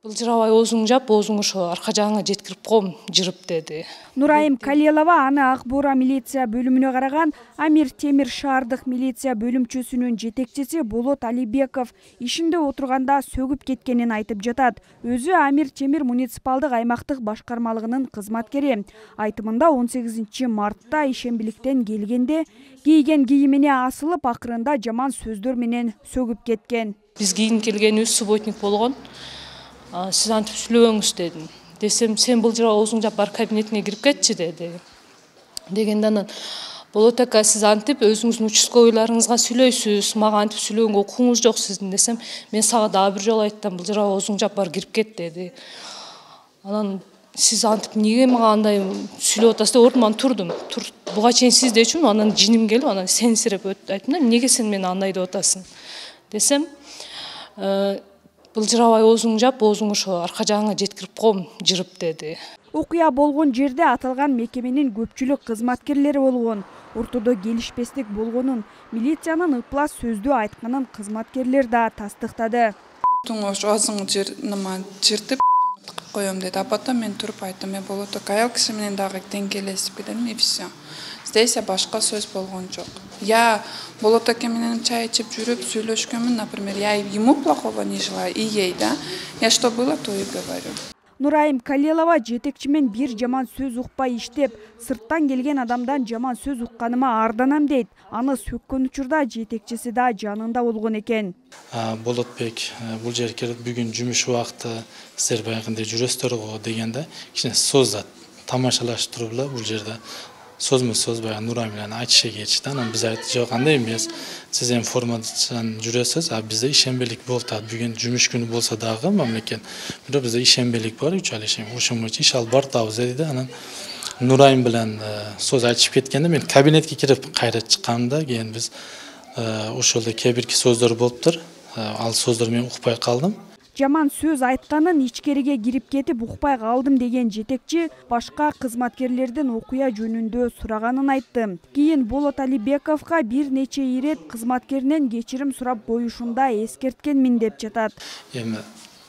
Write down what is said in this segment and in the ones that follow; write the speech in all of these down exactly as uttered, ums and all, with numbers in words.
Былжырабай оозуң жап, оозуң ошо арка жагыңа жеткирип коем, жырып деди. Нурайым Калиелова аны Ак Буура милиция бөлүмүнө караган Амир Темир шаардык милиция бөлүмчөсүнүн жетекчиси Болот Алибеков ишинде отурганда сөгүп кеткенин айтып жатат. Өзү Амир Темир муниципалдык аймактык башкармалыгынын кызматкери. Айтымында он сегизинчи мартта ишембиликтен келгенде кийген кийимине асылып, акырында жаман сөздөр менен сөгүп кеткен. Биз кийин келгенибиз субботник болгон. Сиз антип сүйлөбөңүз дедим. Десем, сен былжырап оозуң жап бар кабинетине кирип кетчи деди. Дегенде анан болот ака, сиз антип өзүңүздүн участковыйларыңызга сүйлөйсүз, мага антип сүйлөгөнгө укугуңуз жок сиздин десем, мен сага дагы бир жолу айттым, былжырап оозуң жап бар кирип кет деди. Анан сиз антип эмнеге мага андай сүйлөп атасыз деп ордуман турдум. Буга чейин сиз дечүмүн, анан жиним келип, анан сенсирип айттым да, эмнеге сен мени андай деп атасың десем, былжырабай оозуң жап, оозуң ошо арка жагыңа жеткирип коем, жырып деди. Окуя болгон жерде аталган мекеменин көпчүлүк кызматкерлери болгон. Ортодо келишпестик болгонун, милициянын ыплас сөздү айтканын кызматкерлер да тастыктады. Ошо оозуңду жыртып коем деди. А потом мен туруп айттым, мен болот ака, аял киши менен дагы тең келесизби дедим, и все. Здесь башка сөз болгон жок. Я болот ака менен чай ичип жүрүп сүйлөшкөнмүн, например, я ему плохого не желаю, и ей, да. Я что было, то и говорю. Нурайым Калиелова жетекчимен бир жаман сөз укпай иштеп, сырттан келген адамдан жаман сөз укканыма арданам дейт. Аны сөккөн учурда жетекчиси да жанында болгон экен. Болотбек, бул жерге бүгүн жумуш убакыты сиздер баягындай жүрөсүздөр го дегенде, кичине создат тамашалаштырып эле бул жерде сөзмө сөз баягы Нурайым менен айтыша кетишти. Анан биз айттык, жок, андай эмес. Сиз эми формадан жүрөсүз, а бизде ишембелик болуп атат. Бүгүн жумуш күнү болсо дагы мамлекет, бирок бизде ишембелик бар, үч ай ишем. Ошон боюнча иш алып бартабыз деди да. Анан Нурайым менен сөз айтышып кеткенде мен кабинетке кирип кайра чыкканда, кийин биз ошолдо кээ бирки сөздөр болуптур. Ал сөздөр мен укпай калдым. Жаман сөз айтканын ичкериге кирип кетип укпай калдым деген жетекчи башка кызматкерлерден окуя жөнүндө сураганын айтты. Кийин Болот Алибековго бир нече ирет кызматкеринен кечирим сурап коюшунда эскерткенмин деп жатат. Эми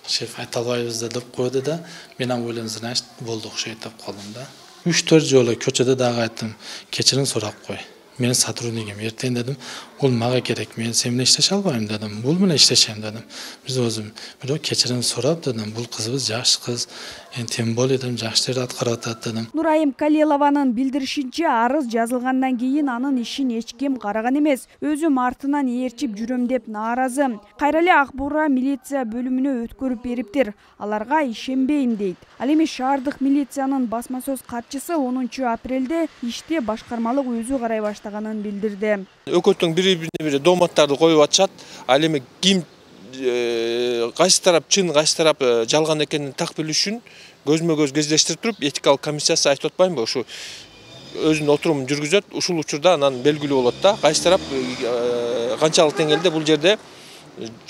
шеф айта албайбыз деп койду да, мен аны ойлоп, значит, болду окшойт деп калдым да. үч төрт жолу көчөдө дагы айттым, кечирим сурап кой. Менин сотруднигим эртең дедим, бул мага керек, мен сен менен иштеше албайм дедим, бул менен иштешем дедим. Биз өзүм бирок кечирим сурап дедим, бул кызыбыз жаш кыз, тем более дедим, жакшы иштерди аткарып атат дедим. Нурайым Калиелованын билдиришинче, арыз жазылгандан кийин анын ишин эч ким караган эмес, өзүм артынан ээрчип жүрөм деп нааразы. Кайра эле Ак Буура милиция бөлүмүнө өткөрүп бериптир, аларга ишенбейм дейт. Ал эми шаардык милициянын басма сөз катчысы онунчу апрелде ишти башкармалык өзү карай баштаганын билдирди. Өкөттүн бири-бири бири доматтарды коюп атышат. Ал эми ким кайсы тарап чын, кайсы тарап жалган экенин так билиш үчүн көзмө-көз кездештирип туруп, этикалык комиссиясы айтып атпаймынбы, ушу өзүнүн отурумун жүргүзөт. Ушул учурда анан белгилүү болот да, кайсы тарап канчалык деңгээлде бул жерде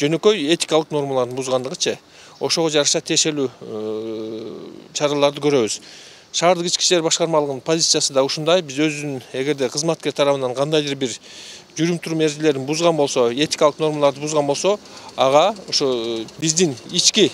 жөнөкөй этикалык нормаларын бузгандыгычы. Ошого жараша тиешелүү чараларды көрөбүз. Шаардык ички иштер башкармалыгынын позициясы да ушундай. Биз өзүнүн эгерде кызматкер тарабынан кандайдыр бир жүрүм-турум эрежелерин бузган болсо, этикалык нормаларды бузган болсо, ага ошо биздин ички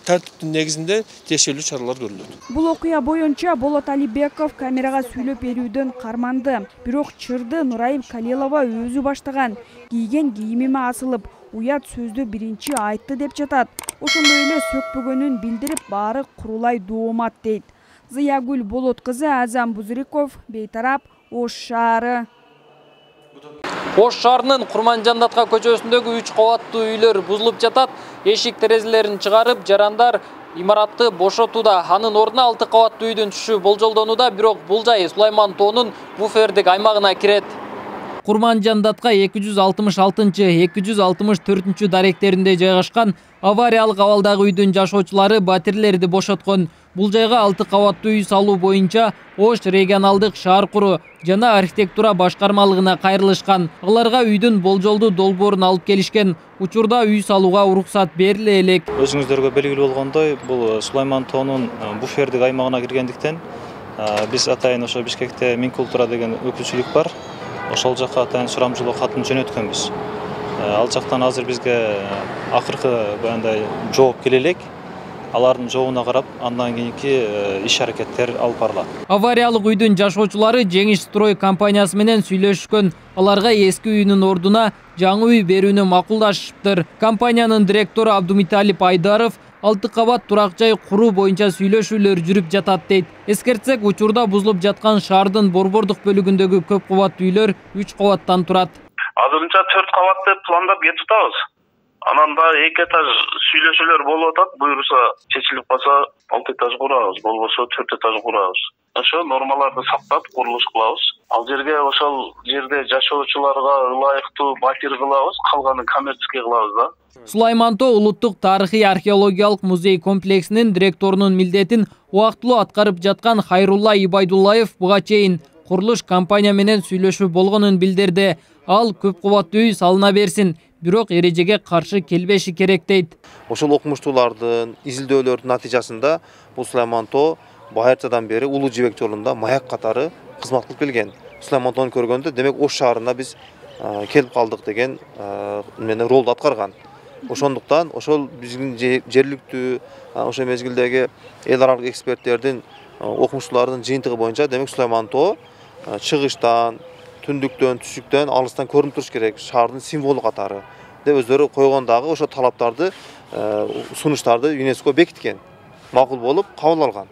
тартиптин негизинде тиешелүү чаралар көрүлөт. Бул окуя боюнча Болот Алибеков камерага сүйлөп берүүдөн карманды. Бирок чырды Нурайым Калиелова өзү баштаган. Кийген кийимиме асылып, уят сөздү биринчи айтты деп жатат. Ошондой эле сөкпөгөнүн билдирип, баары курулай доомат дейт. Зыягүл Болот кызы, Азам Бузриков, Бейтарап, Ош шаары. Ош шаарынын Курманжандатка көчөсүндөгү үч кабаттуу үйлөр бузулуп жатат. Эшик терезелерин чыгарып, жарандар имаратты бошотууда. Анын ордуна алты кабаттуу үйдүн түшүү болжолдонууда, бирок бул жай Сулайман тоонун буфердик аймагына кирет. Курманжандатка эки жүз алтымыш алтынчы — эки жүз алтымыш төртүнчү даректеринде жайгашкан авариялык абалдагы үйдүн жашоочулары батирлерди бошоткон. Бул жайга алты кабаттуу үй салуу боюнча Ош регионалдык шаар куруу жана архитектура башкармалыгына кайрылышкан. Аларга үйдүн болжолдуу долбоорун алып келишкен. Учурда үй салууга уруксат бериле элек. Өзүңүздөргө белгилүү болгондой, бул Сулайман тоонун буфердик аймагына киргендиктен биз атайын ошо Бишкекте Минкультура деген өкүлчүлүк бар. Ошол жакка атайын сурамжылоо катын жөнөткөнбүз. Ал жактан азыр бизге акыркы баягындай жооп келе элек. алардын жообуна карап андан кийинки иш аракеттер алып барылат. Авариялык үйдүн жашоочулары Жеңиш строй компаниясы менен сүйлөшкөн. Аларга эски үйүнүн ордуна жаңы үй берүүнү макулдашыптыр. Компаниянын директору Абдумиталип Айдаров алты кабат турак жай куруу боюнча сүйлөшүүлөр жүрүп жатат дейт. Эскертсек, учурда бузулуп жаткан шаардын борбордук бөлүгүндөгү көп кабаттуу үйлөр үч кабаттан турат. Азырынча төрт кабат деп пландап кетип атабыз. Анан да эки этаж сүйлөшүүлөр болуп атат. Буюрса чечилип калса алты этаж курабыз, болбосо төрт этаж курабыз. Ошо нормаларды сактап курулуш кылабыз. Ал жерге ошол жерде жашоочуларга ылайыктуу батир кылабыз, калганын коммерческий кылабыз да. Сулайман Тоо улуттук тарыхый археологиялык музей комплексинин директорунун милдетин убактылуу аткарып жаткан Хайрулла Ибайдуллаев буга чейин курулуш компания менен сүйлөшүү болгонун билдирди. Ал көп кабаттуу үй салына берсин, бирок эрежеге каршы келбеши керек дейт. Ошол окумуштуулардын изилдөөлөрдүн натыйжасында бул Сулайман Тоо байыртадан бери Улуу Жибек жолунда маяк катары кызмат кылып келген. Сулайман Тоону көргөндө, демек Ош шаарына биз келип калдык деген менен ролду аткарган. Ошондуктан ошол биздин жергиликтүү ошол мезгилдеги эл аралык эксперттердин окумуштуулардын жыйынтыгы боюнча, демек Сулайман Тоо чыгыштан, түндүктөн, түшүктөн алыстан көрүнүп туруш керек, шаардын символу катары деп өздөрү койгондагы ошо талаптарды, сунуштарды ЮНЕСКО бекиткен. Макул болуп кабыл алган.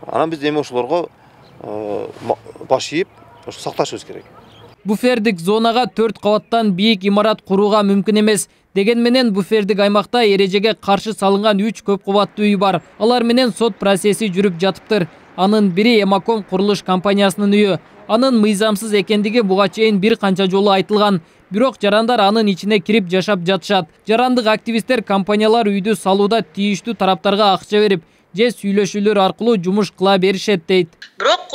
Анан биз эми ошолорго баш ийип, ошо сакташыбыз керек. Буфердик зонага төрт кабаттан бийик имарат курууга мүмкүн эмес. Деген менен буфердик аймакта эрежеге каршы салынган үч көп кабаттуу үй бар. Алар менен сот процесси жүрүп жатыптыр. Анын бири Эмаком курулуш компаниясынын үйү. Анын мыйзамсыз экендиги буга чейин бир канча жолу айтылган. Бирок жарандар анын ичине кирип жашап жатышат. Жарандык активисттер компаниялар үйдү салууда тийиштүү тараптарга акча берип, же сүйлөшүүлөр аркылуу жумуш кыла беришет дейт. Бирок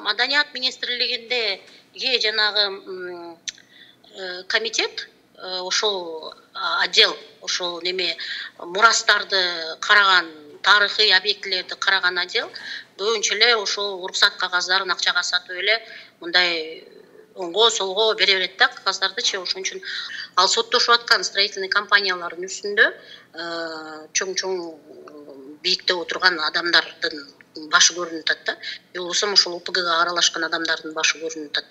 Маданият министрлигинде же жанагы комитет, ошол отдел, ошол неме мурастарды караган, тарыхый объектилерди караган отдел көбүнчө эле ошол уруксат кагаздарын акчага сатып эле мындай оңго солго бере берет да кагаздардычы. Ошон үчүн ал соттошуп аткан строительный компаниялардын үстүндө чоң-чоң бийикте отурган адамдардын башы көрүнүп атат да. Болбосо ошол УПГга аралашкан адамдардын башы көрүнүп атат.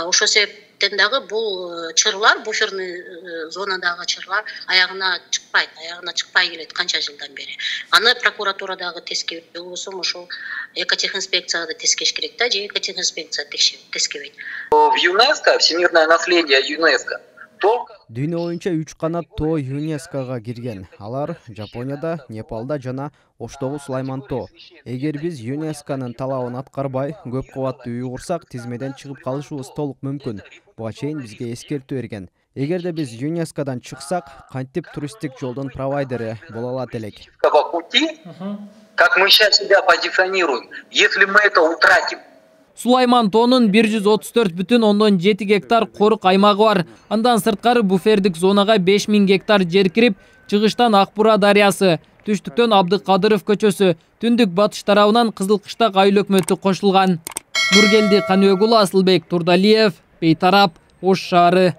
Ошол себептен дагы бул чырлар, буферный зонадагы чырлар аягына чыкпайт, аягына чыкпай келет канча жылдан бери. Аны прокуратура дагы тескебейт, болбосо ошол экотехинспекцияга да тескеш керек да, же экотехинспекция тескебейт. В ЮНЕСКО, всемирное наследие ЮНЕСКО. Дүйнө боюнча үч канат тоо ЮНЕСКОга кирген. Алар Жапонияда, Непалда жана Оштогу Сулайман Тоо. Эгер биз ЮНЕСКонун талабын аткарбай, көп кабаттуу үй курсак, тизмеден чыгып калышыбыз толук мүмкүн. Буга чейин бизге эскертүү берген. Эгерде биз ЮНЕСКодан чыксак, кантип туристтик жолдун провайдери боло алат элек. Как мы сейчас себя позиционируем, если мы это утратим. Сулайман Тоонун бир жүз отуз төрт бүтүн ондон жети гектар корук аймагы бар. Андан сырткары буфердик зонага беш миң гектар жер кирип, чыгыштан Акбура дарыясы, түштүктөн Абдыкадыров көчөсү, түндүк батыш тарабынан Кызылкыштак айыл өкмөтү кошулган. Нургелди Каныбек уулу, Асылбек Турдалиев, Бейтарап, Ош шаары.